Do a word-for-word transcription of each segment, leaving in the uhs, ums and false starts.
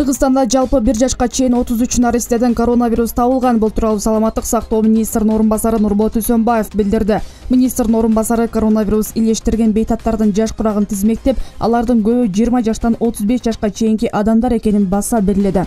Кыргызстанда жалпы бир жашка чейин отуз үч наристеден коронавирус табылган. Бул тууралуу саламаттык сактоо министринин орун басары Нурболот Үсөнбаев билдирди. Министрдин орун басары коронавирус илештирген бейтаптардын жаш курагын тизмектеп, алардын көбү жыйырма жаштан отуз беш жашка чейинки адамдар экенин баса белгиледи.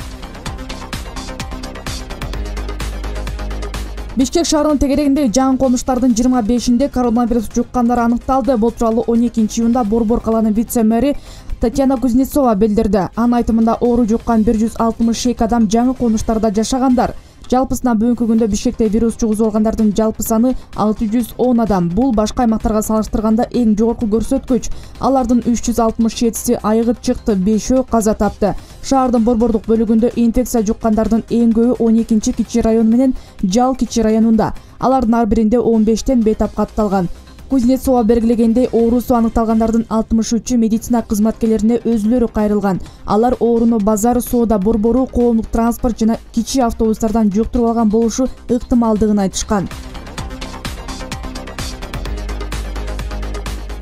Бишкек шаарынын тегерегиндеги жаңы конуштардын жыйырма бешинде коронавирус жуккандар аныкталды. Бул тууралуу он экинчи июнда Борбор калаанын вице-мэри Татьяна Кузнецова билдирди. Анын айтымында оору жуккан бир жүз алтымыш эки адам жаңы конуштарда жашагандар. Жалпысынан бүгүнкү күндө Бишкекте вирус жугузуп алгандардын жалпы саны алты жүз он адам. Бул башка аймактарга салыштырганда эң жогорку көрсөткүч. Алардын үч жүз алтымыш жетиси айыгып чыкты, бешөө каза тапты. Шаардын борбордук бөлүгүндө инфекция жуккандардын эң көбү он экинчи кичи район менен Жал кичи районунда. Алардын ар биринде он бештен бейтап катталган. Кузнецова белгилегендей, оорусу аныкталгандардын алтымыш үчү медицина кызматкерлерине өзүлөрү кайрылган. Алар ооруну базар, соода борбору, коомдук транспорт жана кичи автобустардан жуктуруп алган болушу ыктымалдыгын айтышкан.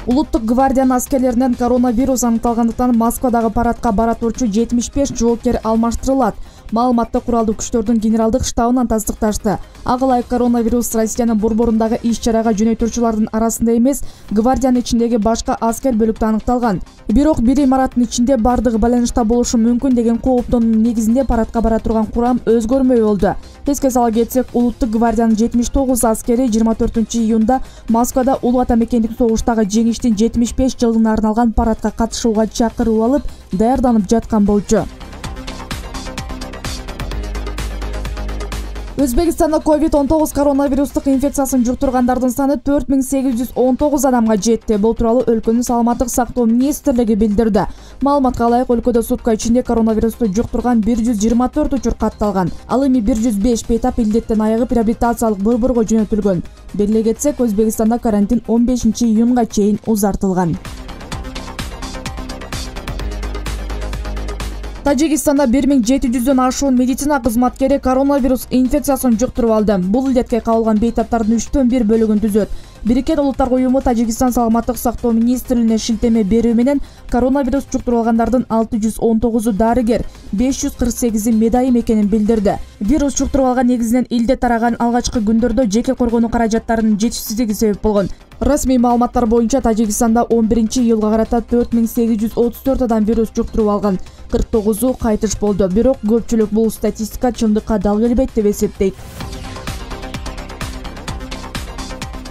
Улуттук гвардиянын аскерлеринен коронавирус аныкталгандыктан Москвадагы парадка бара турчу жетимиш беш жоопкер алмаштырылат. Маалыматты куралдуу күчтөрдүн генералдык штабынан тастыкташты. Ага ылайык коронавирус Россиянын борборундагы иш-чарага жөнөтүүчүлөрдүн арасында эмес, гвардиянын ичиндеги башка аскер бөлүктө аныкталган. Бирок бир имараттын ичинде бардыгы байланышта болушу мүмкүн деген кооптоонун негизинде парадка бара турган курам өзгөрмөй болду. Эске сала кетсек, улуттук гвардиянын жетимиш тогуз аскери жыйырма төртүнчү июнда Москвада улуу ата мекендик согуштагы жеңиштин жетимиш беш жылдыгына арналган парадка катышууга чакырып алып, даярданып жаткан болчу. Өзбекстанда ковид он тогуз коронавирустук инфекциясын жуктургандардын саны төрт миң сегиз жүз он тогуз адамга жетти. Бул тууралуу өлкөнүн саламаттык сактоо министрлиги билдирди. Маалыматка ылайык, өлкөдө сутка ичинде коронавирусту жуктурган бир жүз жыйырма төрт учур катталган. Ал эми бир жүз беш бейтап илдеттен айыгып реабилитациялык борборго жөнөтүлгөн. Белгилей кетсек, Өзбекстанда карантин он бешинчи июнга чейин узартылган. Тажикстанда бир миң жети жүздөн ашуун медицина кызматкери коронавирус инфекциясын жуктуруп алды. Бул илдетке кабылган бейтаптардын үчтөн бир бөлүгүн түзөт. Бириккен Улуттар уюму Тажикстан саламаттык сактоо министрлигине шилтеме берүү менен коронавирус жуктуруп алгандардын алты жүз он тогузу дарыгер, беш жүз кырк сегизи медайым экенин билдирди. Вирус жуктуруп алган негизинен илдет тараган алгачкы күндөрдө жеке коргонуу каражаттарынын жетишсиздиги себеп болгон. Расмий маалыматтар боюнча Тажикстанда он биринчи июлга карата төрт миң сегиз жүз отуз төрт адам вирус жуктуруп алган, кырк тогузу кайтыш болду. Бирок көпчүлүк бул статистика чындыкка дал келбейт деп эсептейт.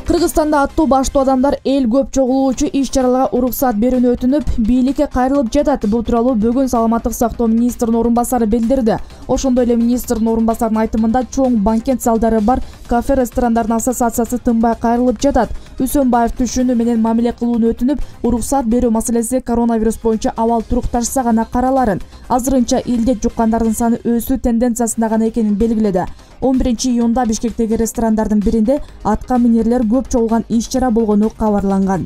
Кыргызстанда аттуу баштуу адамдар эл көп чогулуучу иш-чараларга уруксат берүүнү өтүнүп, бийликке кайрылып жатат. Бул тууралуу бүгүн саламаттык сактоо министринин орун басары билдирди. Ошондой эле министрдин орун басарынын айтымында чоң банкет залдары бар кафе ресторандардын ассоциациясы тынбай кайрылып жатат. Үсөнбаев түшүнүү менен мамиле кылууну өтүнүп, уруксат берүү маселеси коронавирус боюнча абал турукташса гана караларын. Азырынча илдет жуккандардын саны өсүү тенденциясында гана экенин белгиледи. он биринчи июнда Бишкектеги ресторандардын биринде атка минерлер көп чогулган иш-чара болгону кабарланган.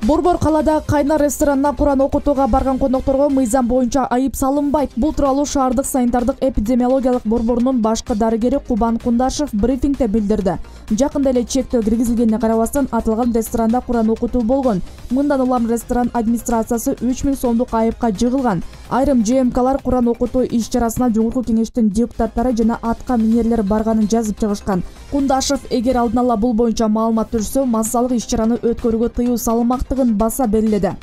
Борбор калаада Кайнар ресторанына Куран окутууга барган кондокторго мыйзам боюнча айып салынбайт. Бул тууралуу шаардык санитардык эпидемиологиялык борборунун башкы дарыгери Кубан Кундашев брифингде билдирди. Жакында эле чектөө киргизилгенине карабастан аталган ресторанда Куран окутуу болгон. Мындан улам ресторан администрациясы үч миң сомдук айыпка жыгылган. Айрым же эм калар Куран окутуу иш-чарасына жогорку кеңештин депутаттары жана атка минерлер барганын жазып чыгышкан. Кундашев эгер алдын ала бул боюнча маалымат түшсө, массалык иш-чараны өткөрүүгө тыюу салынмактыгын баса белгиледи.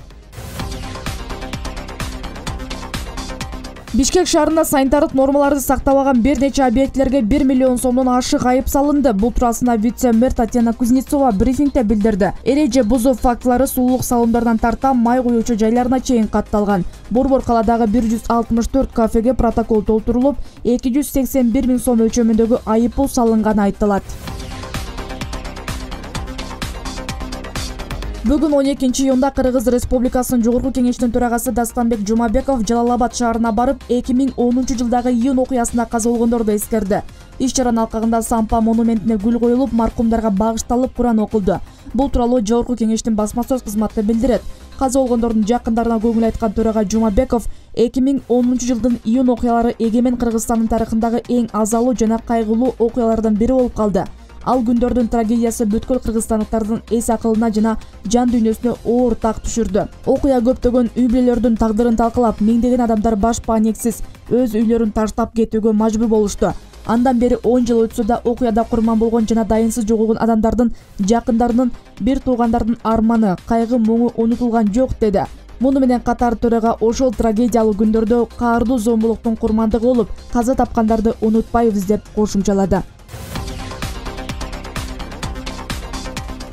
Бишкек шаарында санитардык нормаларды сактабаган бир нече объектилерге бир миллион сомдон ашык айып салынды. Бул туурасында вице-мэр Татьяна Кузнецова брифингде билдирди. Эреже бузуу фактылары суулук салондарынан тарта май куюучу жайларына чейин катталган. Борбор калаадагы бир жүз алтымыш төрт кафеге протокол толтурулуп, эки жүз сексен бир миң сом өлчөмүндөгү айыппул салынганы айтылат. Бүгүн он экинчи июнда Кыргыз Республикасынын Жогорку кеңештин төрагасы Дастанбек Жумабеков Жалал-Абад шаарына барып, эки миң онунчу жылдагы июнь окуясында каза болгондорду эскерди. Иш-чаранын алкагында Сампа монументине гүл коюлуп, маркумдарга багышталып Куран окулду. Бул тууралуу Жогорку кеңештин басма сөз кызматы билдирет. Каза болгондордун жакындарына көңүл айткан төрага Жумабеков эки миң онунчу жылдын июнь окуялары эгемен Кыргызстандын тарыхындагы эң азалуу жана кайгылуу окуялардан бири болуп калды. Ал күндөрдүн трагедиясы бүткүл кыргызстандыктардын эс акылына жана жан дүйнөсүнө оор так түшүрдү. Окуя көптөгөн үй бүлөлөрдүн тагдырын талкалап, миңдеген адамдар баш паниксиз өз үйлөрүн таштап кетүүгө мажбур болушту. Андан бери он жыл өтсө да окуяда курман болгон жана дайынсыз жоголгон адамдардын жакындарынын, бир туугандардын арманы, кайгы муңу унутулган жок деди. Муну менен катар төраға ошол трагедиялуу күндөрдө каардуу зомбулуктун курмандыгы болуп, каза тапкандарды унутпайбыз деп кошумчалады.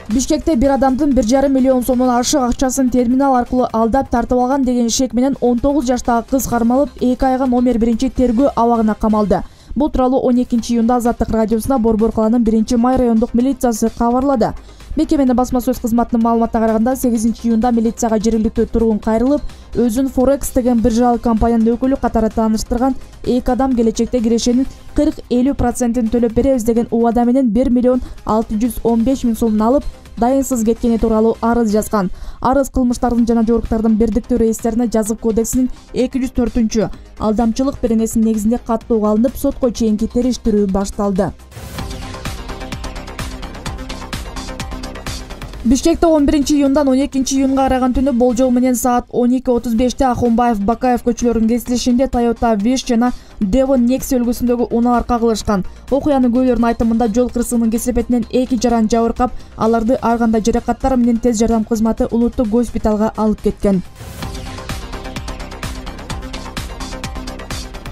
Бишкекте бир адамдын бир жарым миллион сомдон ашык акчасын терминал аркылуу алдап тартып алган деген шек менен он тогуз жаштагы кыз кармалып, эки айга номер биринчи тергөө абагына камалды. Бул тууралуу он экинчи июнда Азаттык радиосуна Борбор калаанын биринчи май райондук милициясы кабарлады. Мекеменин басма сөз кызматынын маалыматына караганда сегизинчи июнда милицияга жергиликтүү тургун кайрылып, өзүн Forex деген биржалык компаниянын өкүлү катары тааныштырган эки адам келечекте кирешенин кырк элүү процентин төлөп беребиз деген убада менен бир миллион алты жүз он беш миң сомун алып, дайынсыз кеткени тууралуу арыз жазган. Арыз кылмыштардын жана жоруктардын бирдиктүү реестрине жазык кодексинин эки жүз төртүнчү алдамчылык беренесинин негизинде каттоого алынып, сотко чейинки териштирүү башталды. Бишкекте он биринчи июндан он экинчи июнга караган түнү болжол менен саат он эки отуз беште Ахунбаев Бакаев көчөлөрүнүн кесилишинде Toyota Wish жана Devon Nexia үлгүсүндөгү унаалар кагылышкан. Окуянын куйлөрүнүн айтымында жол кырсыгынын кесепетинен эки жаран жабыркап, аларды ар кандай жаракаттар менен тез жардам кызматы улуттук госпиталга алып кеткен.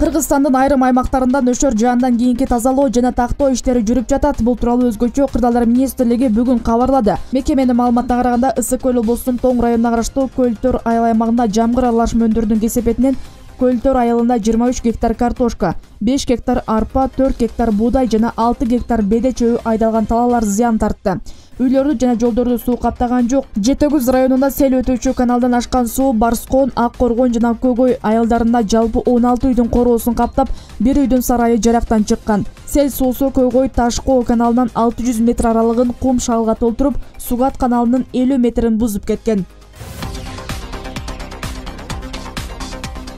Кыргызстандын айрым аймактарында нөшөр жаандан кийинки тазалоо жана тактоо иштери жүрүп жатат. Бул тууралуу өзгөчө Кырдаалдар министрлиги бүгүн кабарлады. Мекеменин маалыматына караганда Ысык көл облусунун Тоң районуна караштуу Көлтөр айыл аймагында жамгыр аралашма өндүрүүдүн кесепетинен Көлтөр айылында жыйырма үч гектар картошка, беш гектар арпа, төрт гектар буудай жана алты гектар беде чөбү айдалган талаалар зыян тартты. Үйлөрдү жана жолдорду суу каптаган жок. Жети өгүз районунда сел өтүүчү каналдан ашкан суу Барскон, Ак Коргон жана Көгөй айылдарында жалпы он алты үйдүн короосун каптап, бир үйдүн сарайы жарактан чыккан. Сел суусу Көгөй Ташкоо каналынан алты жүз метр аралыгын кум шалга толтуруп, Сугат каналынын элүү метрин бузуп кеткен.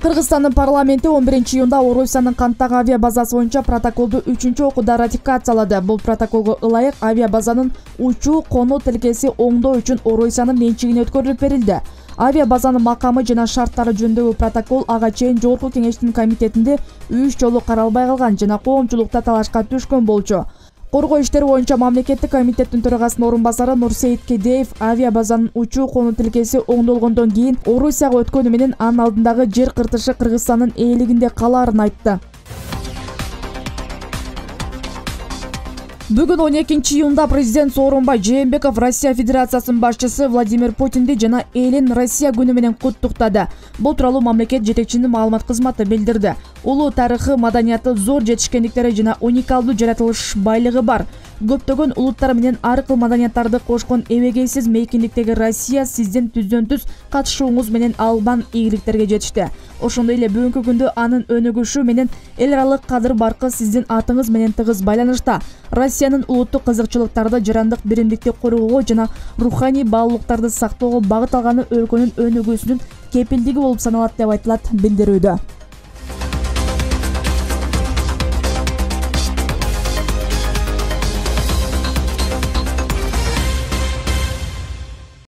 Кыргызстандын парламенти он биринчи июнда Орусиянын Канттагы авиа базасы боюнча протоколду үчүнчү окууда ратификациялады. Бул протоколго ылайык авиа базанын учуу конуу тилкеси оңдоо үчүн Орусиянын менчигине өткөрүлүп берилди. Авиа базанын макамы жана шарттары жөнүндөгү протокол ага чейин Жогорку кеңештин комитетинде үч жолу каралбай калган жана коомчулукта талашка түшкөн болчу. Коргоо иштери боюнча мамлекеттик комитеттин төрагасынын орун басары Нурсейит Кедеев авиа базанын учуу конуу тилкеси оңдолгондон кийин Орусияга өткөнү менен анын алдындагы жер кыртышы Кыргызстандын ээлигинде калаарын айтты. Бүгүн он экинчи июнда президент Сооронбай Жээнбеков Россия Федерациясынын башчысы Владимир Путинди жана элин Россия күнү менен куттуктады. Бул тууралуу мамлекет жетекчисинин маалымат кызматы билдирди. Улуу тарыхы, маданияты, зор жетишкендиктери жана уникалдуу жаратылыш байлыгы бар. Көптөгөн улуттар менен ар кыл маданияттарды кошкон эбегейсиз мейкиндиктеги Россия сиздин түздөн түз катышууңуз менен албан ийгиликтерге жетишти. Ошондой эле бүгүнкү күндө анын өнүгүшү менен эл аралык кадыр баркы сиздин атыңыз менен тыгыз байланышта. Россиянын улуттук кызыкчылыктарды, жарандык биримдикти коргоого жана руханий баалуулуктарды сактоого багыт алганы өлкөнүн өнүгүүсүнүн кепилдиги болуп саналат деп айтылат билдирүүдө.